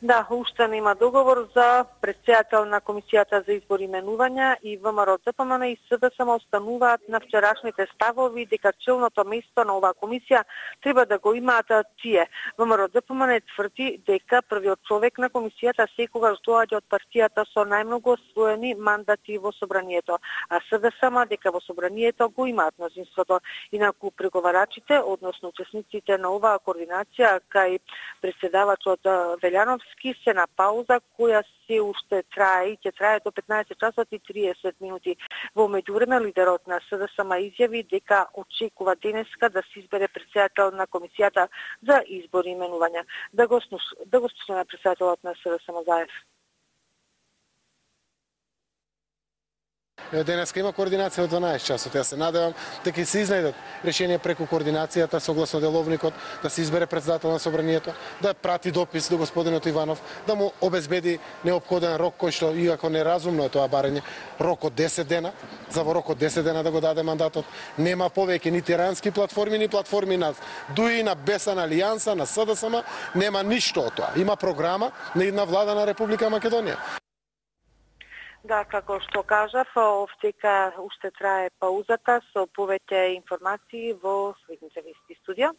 Да, уште нема договор за претседател на Комисијата за избор и именувања и ВМРО ДПМН и СДСМ остануваат на вчерашните ставови дека челното место на оваа комисија треба да го имаат тие. ВМРО ДПМН тврди дека првиот човек на комисијата секогаш доаѓа од партијата со најмногу освоени мандати во собранието, а СДСМ дека во собранието го имаат мнозинството. Инаку преговарачите, односно учесниците на оваа координација кај претседавачот Велјановски се на пауза која се уште трае и ќе трае до 15 часот и 30 минути. Во меѓувреме лидерот на СДСМ изјави дека очекува денеска да се избере претседател на Комисијата за избор и именувања. Да го слушаме претседателот на СДСМ Заев. Денеска има координација од 12 часот. Јас се надевам дека ќе се изнајдат решение преку координацијата согласно деловникот, да се избере претседател на собранието, да прати допис до господинот Иванов, да му обезбеди неопходен рок кој што иако неразумно е тоа барање, рок од 10 дена, за во рок од 10 дена да го даде мандатот. Нема повеќе ни тирански платформи, ни платформи на ДУИ, на Бесана Алијанса, на СДСМ, нема ништо од тоа. Има програма на една влада на Република Македонија. Да, како што кажав, овдека уште трае паузата со повеќе информации во следните вести. Студио.